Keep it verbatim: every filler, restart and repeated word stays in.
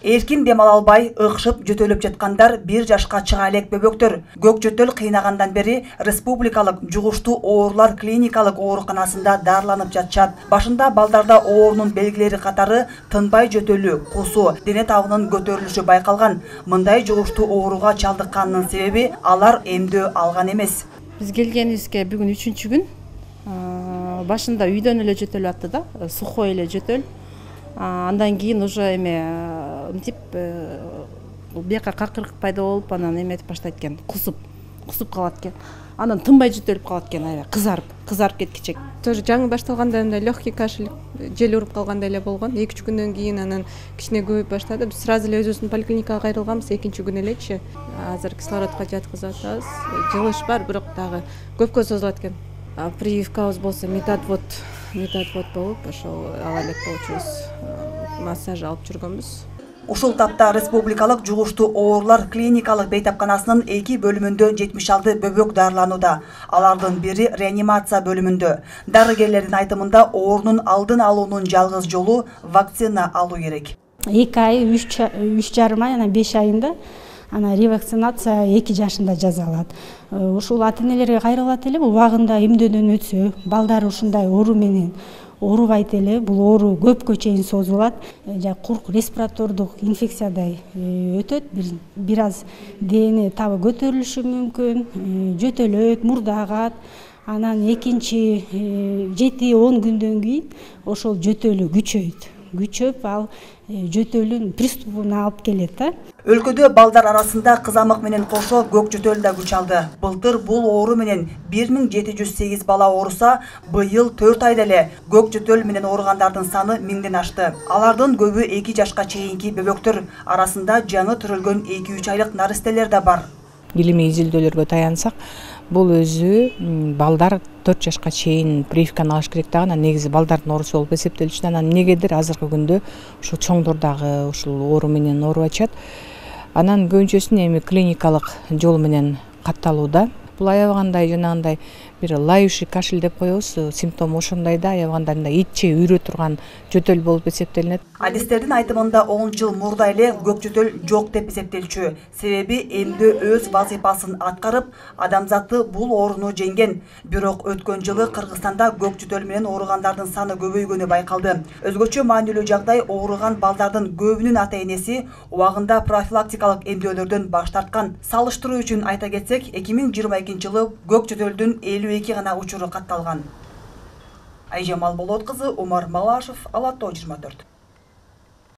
Эркин дем ала албай, ыкшып жөтөлүп жаткандар бир жашка чыга элек бөбөктөр. Көк жөтөл кыйнагандан бери Республикалык жугуштуу оорулар клиникалык ооруканасында дарыланып жатышат. Башында балдарда оорунун белгилери катары тынбай жөтөлүү, кусуу, дене табынын көтөрүлүшү байкалган. Мындай жугуштуу ооруга чалдыкканынын себеби алар эмдөө алган эмес. Биз келгенибизге бүгүн үчүнчү күн. Башында үйдөн эле жөтөлүп атты да, сухой эле жөтөл. Андан кийин уже эме мынтип бияка какырык пайда болуп, анан эметип баштайт экен, кусуп, кусуп калат экен. Анан тынбай жөтөлүп калат экен, аябай кызарып, кызарып кеткичек. Тоже жаңы башталганда мындай легкий кашель, жел уруп калгандай эле болгон. эки үч күндөн кийин анан кичине көбөйүп баштады. Биз сразу эле өзүбүздүн поликлиникага кайрылганбыз, экинчи күн элекчи. Азыр кислородко жаткызып атабыз. Жылыш бар, бирок дагы көпкө созулат экен. Прививкабыз болсо метадвод, метадвод болуп, ошол ала элек болчубуз. Массаж алып жүргөнбүз. Ушул тапта Республикалык жугуштуу оорулар клиникалык бейтапканасынын эки бөлүмүндө жетимиш алты бөбөк дарыланууда. Алардын бири реанимация бөлүмүндө. Дарыгерлердин айтымында оорунун алдын алуунун жалгыз жолу вакцина алуу керек. эки ай, үч жарым ай, анан беш айында ана ревакцинация эки жашында жазалат. Ушул ата энелерге кайрылат эле, убагында эмдөөдөн өтсө, балдары ушундай оору менен оорубайт эле, бул оору көпкө чейин созулат. Курк респиратордук инфекциядай өтөт, бир аз дене табы көтөрүлүшү мүмкүн, жөтөлөт, мурда агат. Анан экинчи жети он күндөн кийин ошол жөтөлү күчөйт. Күчөп, ал жөтөлүн приступуна алып келет да. Өлкөдө балдар арасында кызамык менен кошо көк жөтөл да күч алды. Былтыр бул оору менен бир миң жети жүз сегиз бала ооруса, быйыл төрт айда эле көк жөтөл менен ооругандардын саны миңден ашты. Алардын көбү эки жашка чейинки бөбөктөр, арасында жаңы төрөлгөн эки үч айлык наристелер да бар. Илимий изилдөөлөргө таянсак, бул өзү балдар төрт жашка чейин прививканы алыш керек дагы, негизи балдардын оорусу болуп эсептелиши. Анан эмнегедир азыркы күндө ушу чоңдор дагы ушул оору менен оорубай атышат. Анан көбүнчөсүн эми клиникалык жол менен катталууда. Бул аябагандай жанагындай бир лающий кашель деп коебуз, симптому ошондой да, аябагандай мындай итче үйрө турган жөтөл болуп эсептелинет. Адистердин айтымында он жыл мурда эле көк жөтөл жок деп эсептелчү. Себеби эмдөө өз вазифасын аткарып, адамзатты бул ооруну жеңген. Бирок өткөн жылы Кыргызстанда көк жөтөл менен ооругандардын саны көбөйгөнү байкалды. Өзгөчө маанилүү жагдай ооруган балдардын көбүнүн ата-энеси убагында профилактикалык эмдөөлөрдөн баш тарткан. Салыштыруу үчүн айта кетсек, эки миң жыйырма экинчи жылы көк жөтөлдүн элүү эки гана учуру катталган. Айжамал Болот кызы, Умар Малашев, Ала Тоо жыйырма төрт.